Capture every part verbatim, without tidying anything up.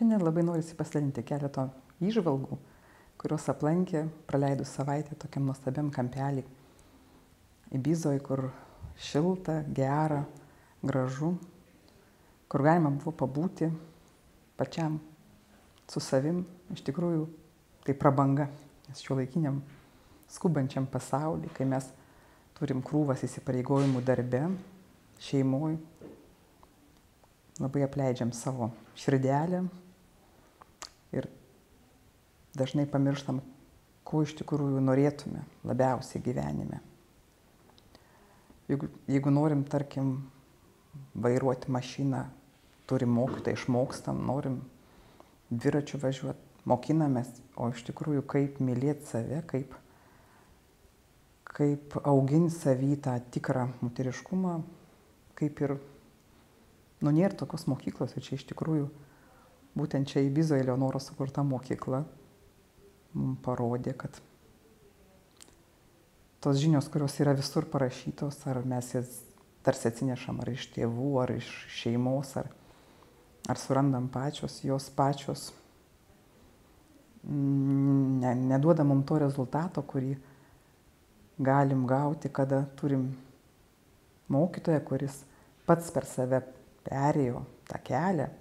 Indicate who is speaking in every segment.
Speaker 1: Šiandien labai norisi pasidalinti keletą įžvalgų, kurios aplankė praleidus savaitę tokiam nuostabiam kampelį Ibizoj, kur šilta, gera, gražu, kur galima buvo pabūti pačiam su savim. Iš tikrųjų, tai prabanga, nes šiuolaikiniam skubančiam pasauly, kai mes turim krūvas įsipareigojimų darbe, šeimoj, labai apleidžiam savo širdelę ir dažnai pamirštam, ko iš tikrųjų norėtume labiausiai gyvenime. Jeigu, jeigu norim, tarkim, vairuoti mašiną, turim mokytą, išmokstam, norim dviračiu važiuoti, mokinamės, o iš tikrųjų kaip mylėti save, kaip, kaip auginti savy tą tikrą moteriškumą, kaip ir, nu, nėra tokios mokyklos, ir čia iš tikrųjų būtent čia Ibizoje Eleonoros sukurta mokykla mums parodė, kad tos žinios, kurios yra visur parašytos, ar mes jas tarsi atsinešam ar iš tėvų, ar iš šeimos, ar, ar surandam pačios, jos pačios ne, neduoda mums to rezultato, kurį galim gauti, kada turim mokytoją, kuris pats per save perėjo tą kelią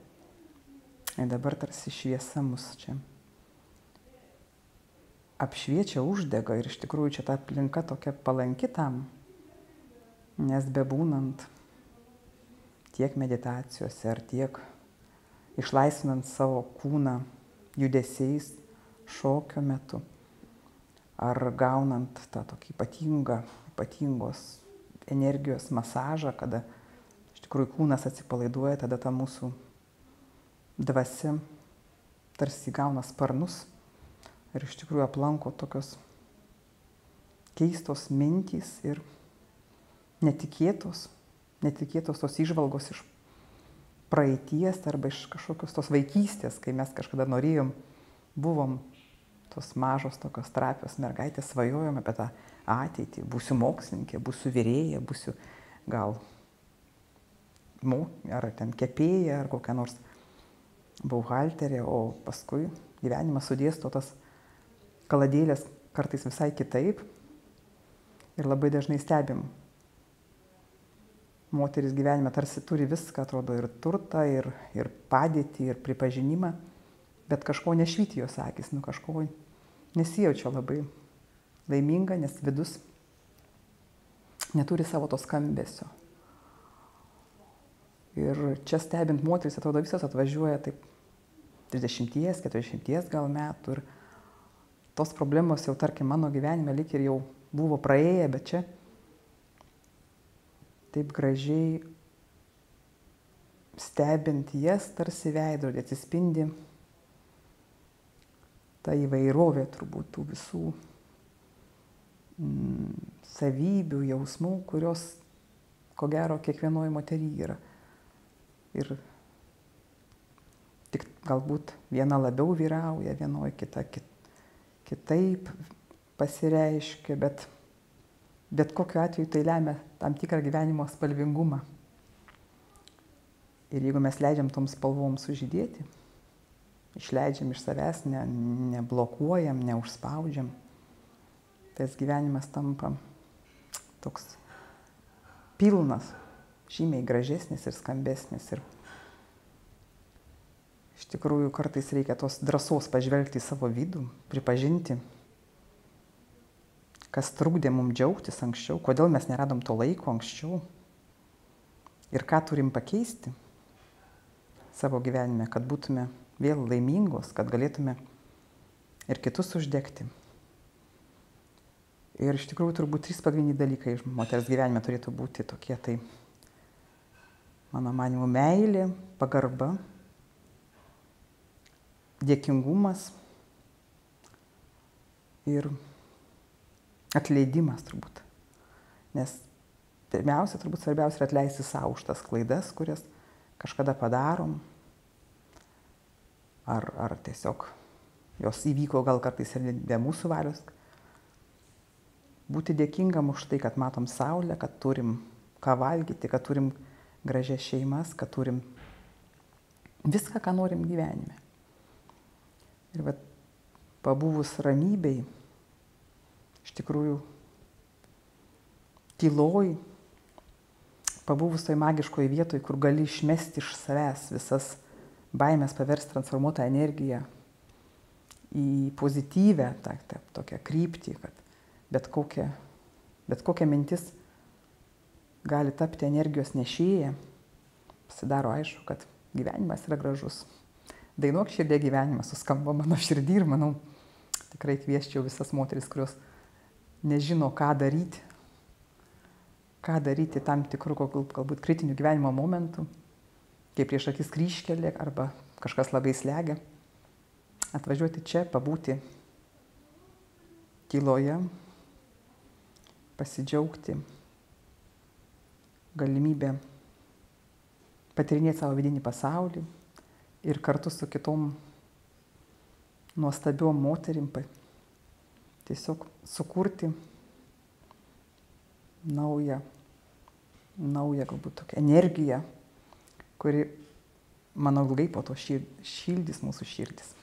Speaker 1: ir dabar tarsi šviesa mus čia apšviečia, uždega, ir iš tikrųjų čia ta aplinka tokia palanki tam, nes bebūnant tiek meditacijose ar tiek išlaisvinant savo kūną judesiais šokio metu, ar gaunant tą tokį ypatingą, ypatingos energijos masažą, kada iš tikrųjų kūnas atsipalaiduoja, tada ta mūsų dvasia tarsi gauna sparnus ir iš tikrųjų aplanko tokios keistos mintys ir netikėtos, netikėtos tos įžvalgos iš praeities arba iš kažkokios tos vaikystės, kai mes kažkada norėjom, buvom tos mažos tokios trapios mergaitės, svajojom apie tą ateitį, būsiu mokslininkė, būsiu virėja, būsiu gal ar ten kepėja, ar kokia nors buhalterė, o paskui gyvenimas sudėsto tas kaladėlės kartais visai kitaip ir labai dažnai stebim. Moteris gyvenime tarsi turi viską, atrodo, ir turtą, ir, ir padėtį, ir pripažinimą, bet kažko nešvyti jos akis, nu kažko nesijaučia labai laiminga, nes vidus neturi savo to skambesio. Ir čia stebint moteris, atrodo, visos atvažiuoja taip trisdešimties, keturiasdešimties gal metų ir tos problemos jau, tarkim, mano gyvenime lyg ir jau buvo praėję, bet čia taip gražiai stebint jas tarsi veidrodį atsispindi ta įvairovė turbūt tų visų mm, savybių, jausmų, kurios, ko gero, kiekvienoje moteryje yra. Ir tik galbūt viena labiau vyrauja, vienoje kita kit, kitaip pasireiškia, bet, bet kokiu atveju tai lemia tam tikrą gyvenimo spalvingumą. Ir jeigu mes leidžiam toms spalvoms sužydėti, išleidžiam iš savęs, ne, neblokuojam, neužspaudžiam, tas gyvenimas tampa toks pilnas, žymiai gražesnis ir skambesnis. Ir iš tikrųjų kartais reikia tos drąsos pažvelgti į savo vidų, pripažinti, kas trukdė mums džiaugtis anksčiau, kodėl mes neradom to laiko anksčiau ir ką turim pakeisti savo gyvenime, kad būtume vėl laimingos, kad galėtume ir kitus uždegti. Ir iš tikrųjų turbūt trys pagrindiniai dalykai moters gyvenime turėtų būti tokie, tai mano manymu meilė, pagarba, dėkingumas ir atleidimas turbūt. Nes pirmiausia, turbūt svarbiausia yra atleisti savo už tas klaidas, kurias kažkada padarom. Ar, ar tiesiog jos įvyko gal kartais ir be mūsų valios. Būti dėkingam už tai, kad matom saulę, kad turim ką valgyti, kad turim gražias šeimas, kad turim viską, ką norim gyvenime. Ir vat, pabuvus ramybei, iš tikrųjų, tyloj, pabuvus toj magiškoj vietoj, kur gali išmesti iš savęs visas baimės, paversti transformuotą energiją į pozityvę, tą, tą, tokią kryptį, kad bet kokia, bet kokia mintis gali tapti energijos nešėja, pasidaro aišku, kad gyvenimas yra gražus. Dainuok širdie gyvenimas, suskamba mano širdį ir manau, tikrai kvieščiau visas moteris, kurios nežino, ką daryti, ką daryti tam tikrų, galbūt kritinių gyvenimo momentų, kai prieš akis kryžkelė arba kažkas labai slegia, atvažiuoti čia, pabūti tyloje, pasidžiaugti galimybę patyrinėti savo vidinį pasaulį ir kartu su kitom nuostabiom moterim tiesiog sukurti naują, naują galbūt tokią energiją, kuri, manau, ilgai po to šildys mūsų širdis.